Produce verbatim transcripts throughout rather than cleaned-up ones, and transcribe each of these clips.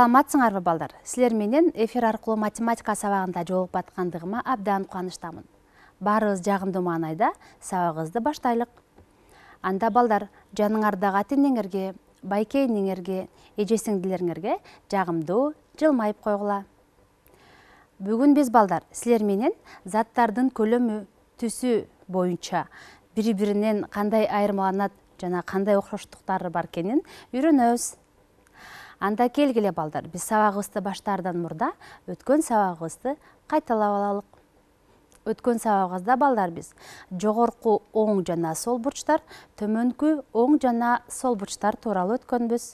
Саламатсыңарбы балдар? Силер менен эфир аркылуу математика сабагында жолугуп аткандыгыма абдан кубанычтамын. Баарыбыз жагымдуу маанайда сабагыбызды баштайлык. Анда балдар, жаныңардагы ата-энеңерге, байкейиңерге, эже-сиңдилериңерге жагымдуу жылмайып койгула. Бүгүн биз балдар силер менен заттардын көлөмү, түсү боюнча бири-биринен кандай айырмаланат жана кандай окшоштуктары бар экенин үйрөнөбүз. Анда келгиле балдар, биз сабагыбызды баштаардан мурда өткөн сабагыбызды кайталап алалык. Өткөн сабагыбызда балдар биз жогорку оң жана сол бурчтар, төмөнкү оң жана сол бурчтар тууралуу өткөнбүз.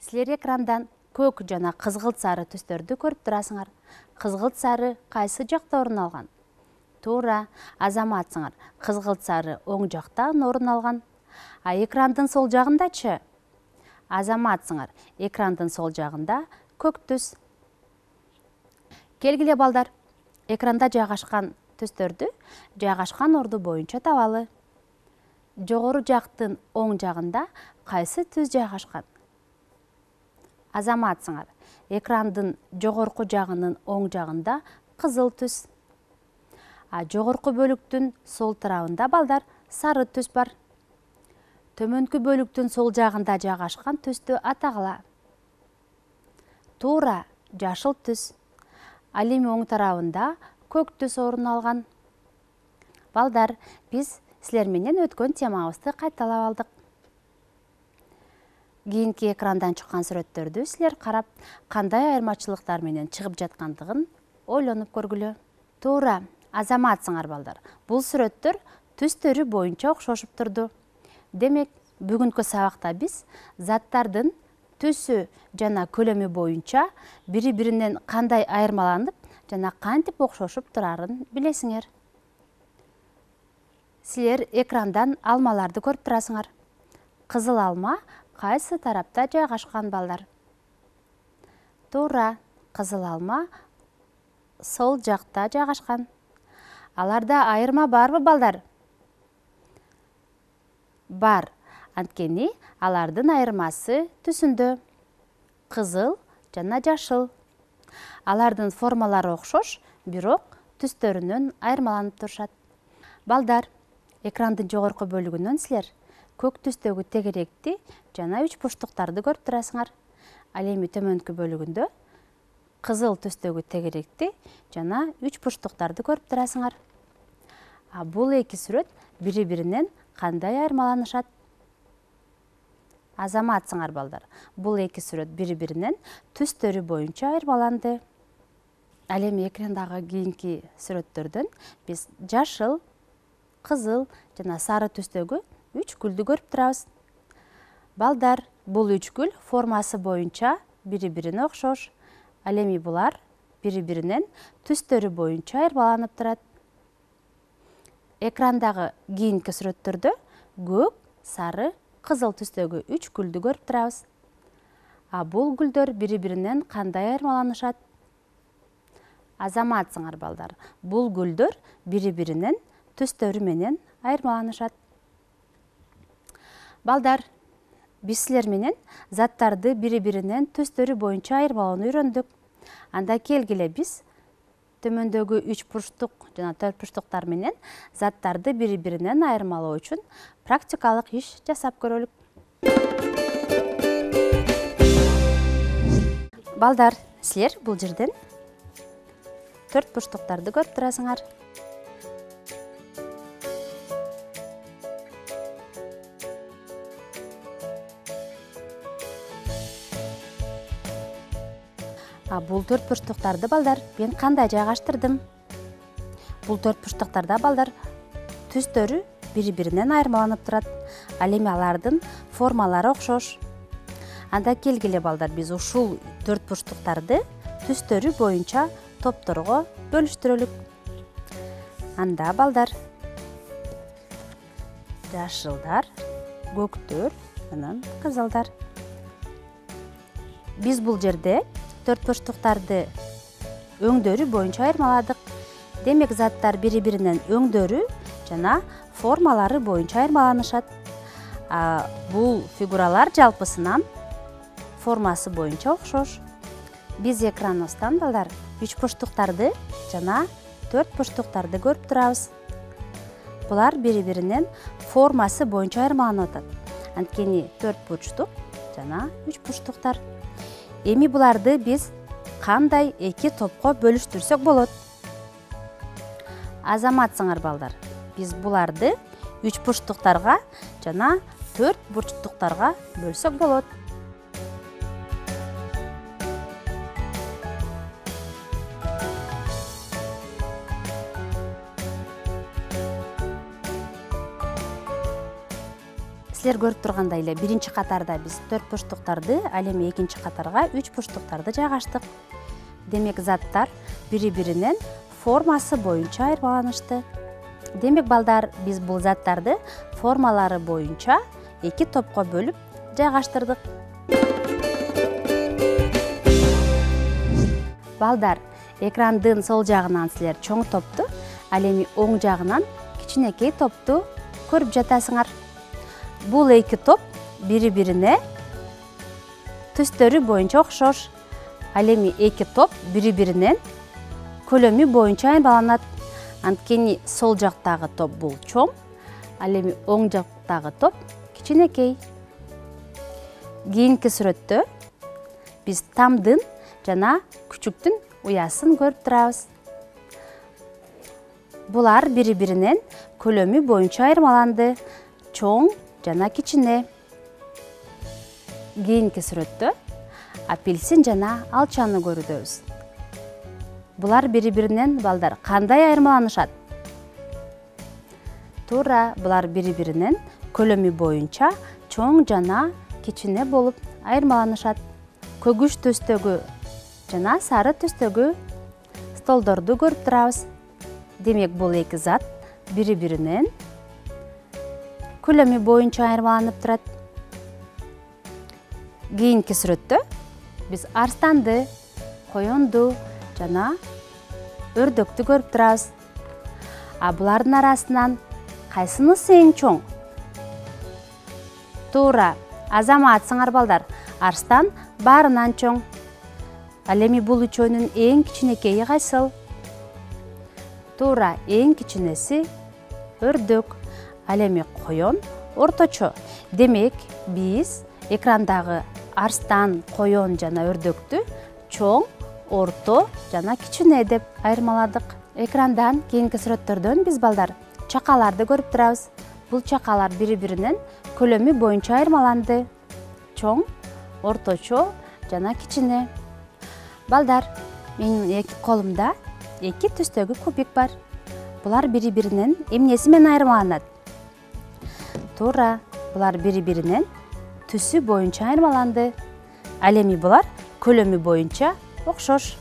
Силер экрандан көк жана кызгылт сары түстөрдү көрүп турасыңар. Кызгылт сары кайсы жакта орун алган? Туура, азаматсыңар. Кызгылт сары оң жактан орун алган. А экрандын сол жагындачы? Азаматсыңар. Экрандын сол жагында көк түс. Келгиле балдар, экранда жайгашкан түстөрдү жайгашкан орду боюнча табалы. Жогору жактын оң жагында кайсы түс жайгашкан? Азаматсыңар. Экрандын жогорку жагынын оң жагында кызыл түс. А жогорку бөлүктүн сол тарабында балдар сары түс бар. Төмөнкү бөлүктүн сол жагында жайгашкан түстү атагыла. Туура, жашыл түс. Ал эми оң тарабында көк түс орун алган. Балдар, биз силер менен өткөн темабызды кайталап алдык. Кийинки экрандан чыккан сүрөттөрдү силер карап, кандай айырмачылыктар менен чыгып жаткандыгын ойлонуп көргүлө. Туура, азаматсыңар балдар. Бул сүрөттөр түстөрү боюнча окшошуп турду. Демек, бүгүнкү сабакта биз заттардын түсү жана көлөмү боюнча бири-биринен кандай айырмаланып жана кантип окшошуп турарын билесиңер. Силер экрандан алмаларды көрүп турасыңар. Кызыл алма кайсы тарапта жайгашкан балдар? Туура, кызыл алма сол жакта жайгашкан. Аларда айырма барбы балдар? Бар. Анткени алардын айырмасы түсүндө. Кызыл жана жашыл. Алардын формалары окшош, бирок түстөрүнөн айырмаланып турушат. Балдар, экрандын жогорку бөлүгүнөн силер көк түстөгү тегеректи жана үч бурчтуктарды көрүп турасыңар. Ал эми төмөнкү бөлүгүндө кызыл түстөгү тегеректи жана үч бурчтуктарды көрүп турасыңар. А бул эки сүрөт бири-биринен кандай айырмаланышат? Азаматсыңар балдар. Бул эки сүрөт бири-биринен түстөрү боюнча айырмаланды. Ал эми экрандагы кийинки сүрөттөрдөн биз жашыл, кызыл жана сары түстөгү үч гүлдү көрүп турабыз. Балдар, бул үч гүл формасы боюнча бири-бирине окшош. Ал эми булар бири-биринен түстөрү боюнча айырмаланып турат. Экрандагы кийинки сүрөттөрдө көк, сары, кызыл түстөгү үч гүлдү көрүп турабыз. А бул гүлдөр бири-биринен кандай айырмаланышат? Азаматсыңар балдар. Бул гүлдөр бири-биринен түстөрү менен айырмаланышат. Балдар, биз силер менен заттарды бири-биринен түстөрү боюнча айырмалоону үйрөндүк. Анда келгиле биз төмөндөгү үч бурчтук жана төрт бурчтуктар менен заттарды бири-биринен айырмалоо үчүн практикалык иш жасап көрөлүк. Балдар, силер бул жерден төрт бурчтуктарды көрүп турасыңар. А бул төрт бурчтуктарды балдар мен кандай жайгаштырдым? Бул төрт бурчтуктарда балдар түстөрү бири-биринен айырмаланып турат. Ал эми алардын формалары окшош. Анда келгиле балдар, биз ушул төрт бурчтуктарды түстөрү боюнча топторго бөлүштүрөлүк. Анда балдар, жашылдар, көктөр, анан кызылдар. Биз бул жерде төрт бурчтуктарды өңдөрү боюнча айырмаладык. Демек, заттар бири-биринен өңдөрү жана формалары боюнча айырмаланышат. Бул фигуралар жалпысынан формасы боюнча окшош. Биз экраныбыздан балдар үч бурчтуктарды жана төрт бурчтуктарды көрүп турабыз. Булар бири-биринен формасы боюнча айырмаланып атат. Анткени төрт бурчтук жана үч бурчтуктар. Эми буларды биз кандай эки топко бөлүштүрсөк болот? Азаматсыңар балдар, биз буларды үч бурчтуктарга жана төрт бурчтуктарга бөлсөк болот. Силер көрүп тургандай эле биринчи катарда биз төрт бурчтуктарды, ал эми экинчи катарга үч бурчтуктарды жайгаштык. Демек заттар бири-биринен формасы боюнча айырмаланышты. Демек балдар, биз бул заттарды формалары боюнча эки топко бөлүп жайгаштырдык. Балдар, экрандын сол жагынан силер чоң топту, ал эми оң жагынан кичинекей топту көрүп жатасыңар. Бул эки топ бири-бирине түстөрү боюнча окшош. Ал эми эки топ бири-биринен көлөмү боюнча айырмаланат. Анткени сол жактагы топ бул чоң, ал эми оң жактагы топ кичинекей. Кийинки сүрөттө биз тамдын жана күчүктүн уясын көрүп турабыз. Булар бири-биринен көлөмү боюнча айырмаланды. Чоң жана кичине. Кийинки сүрөттө апельсин жана алчаны көрүдөбүз. Булар бири-биринен балдар кандай айырмаланышат? Туура, булар бири-биринен көлөмү боюнча чоң жана кичине болуп айырмаланышат. Көгүш түстөгү жана сары түстөгү столдорду көрүп турабыз. Демек бул эки зат бири-биринен көлөмү боюнча айырмаланып турат. Кийинки сүрөттө биз арстанды, коёнду жана өрдөктү көрүп турабыз. А булардын арасынан кайсынысы эң чоң? Туура, азаматсыңар балдар, арстан баарынан чоң. Ал эми бул үчөөнүн эң кичинекейи кайсыл? Туура, эң кичинеси өрдөк. Ал эми коён орточо. Демек, биз экрандагы арстан, коён жана өрдөктү чоң, орто жана кичине деп айырмаладык. Экрандан кийинки сүрөттөрдөн биз балдар чакаларды көрүп турабыз. Бул чакалар бири-биринен көлөмү боюнча айырмаланды. Чоң, орточо жана кичине. Балдар, менин эки колумда эки түстөгү кубик бар. Булар бири-биринен эмнеси менен айырмаланат? Туура, булар бири-биринен түсү боюнча айырмаланды. Ал эми булар көлөмү боюнча окшош.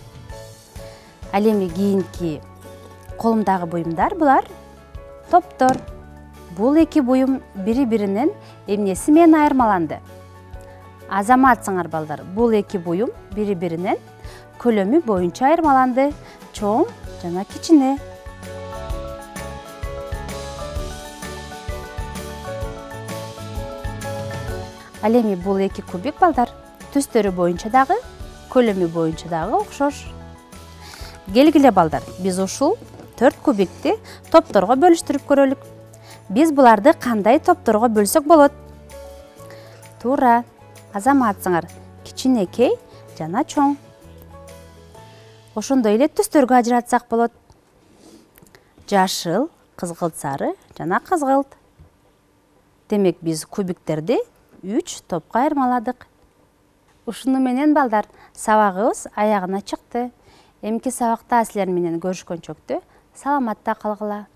Ал эми кийинки колумдагы буюмдар булар топтор. Бул эки буюм бири-биринен эмнеси менен айырмаланды? Азаматсыңар балдар, бул эки буюм бири-биринен көлөмү боюнча айырмаланды. Чоң жана кичине. Ал эми бул эки кубик балдар түстөрү боюнча дагы, көлөмү боюнча дагы окшош. Келгиле балдар, биз ушул төрт кубикти топторго бөлүштүрүп көрөлүк. Биз буларды кандай топторго бөлсөк болот? Туура, азаматсыңар, кичинекей жана чоң. Ошондой эле түстөргө ажыратсак болот. Жашыл, кызгылт сары жана кызгылт. Демек биз кубиктерди үч топко айырмаладык. Ушуну менен балдар сабагыбыз аягына чыкты. Эмки сабакта силер менен көрүшкөнчөктү саламатта калгыла.